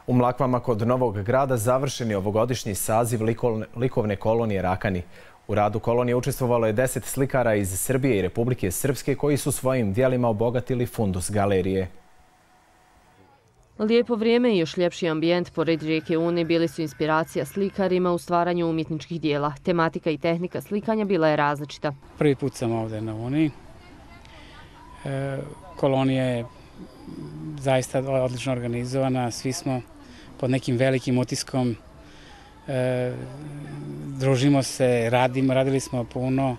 U Mlakvama kod Novog Grada završen je ovogodišnji saziv likovne kolonije Rakani. U radu kolonije učestvovalo je 10 slikara iz Srbije i Republike Srpske koji su svojim dijelima obogatili fundus galerije. Lijepo vrijeme i još ljepši ambijent pored rijeke Une bili su inspiracija slikarima u stvaranju umjetničkih dijela. Tematika i tehnika slikanja bila je različita. Prvi put sam ovdje na Uni. Kolonija je zaista odlično organizovana. Svi smo pod nekim velikim utiskom. Družimo se, radili smo puno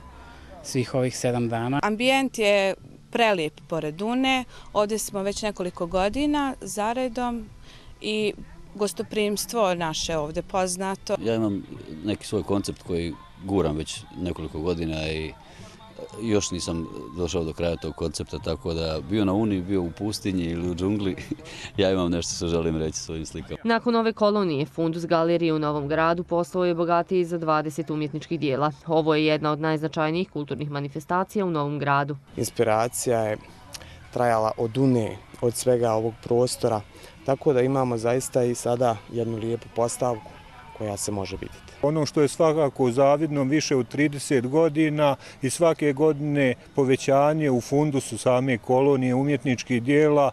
svih ovih 7 dana. Ambijent je prelijep pored Une. Ovdje smo već nekoliko godina zaredom i gostoprimstvo naše ovdje poznato. Ja imam neki svoj koncept koji guram već nekoliko godina i još nisam došao do kraja tog koncepta, tako da bio na Uni, bio u pustinji ili u džungli, ja imam nešto što želim reći svojim slikama. Nakon ove kolonije, fundus galerije u Novom Gradu postao je bogatiji za 20 umjetničkih dijela. Ovo je jedna od najznačajnijih kulturnih manifestacija u Novom Gradu. Inspiracija je trajala od Une, od svega ovog prostora, tako da imamo zaista i sada jednu lijepu postavku koja se može vidjeti. Ono što je svakako zavidno više od 30 godina i svake godine povećanje u fundusu same kolonije umjetničkih dijela,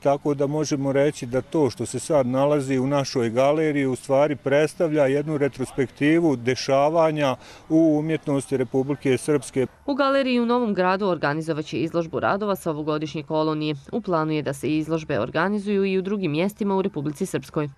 tako da možemo reći da to što se sad nalazi u našoj galeriji u stvari predstavlja jednu retrospektivu dešavanja u umjetnosti Republike Srpske. U galeriji u Novom Gradu organizovaće izložbu radova sa ovogodišnje kolonije. U planu je da se izložbe organizuju i u drugim mjestima u Republici Srpskoj.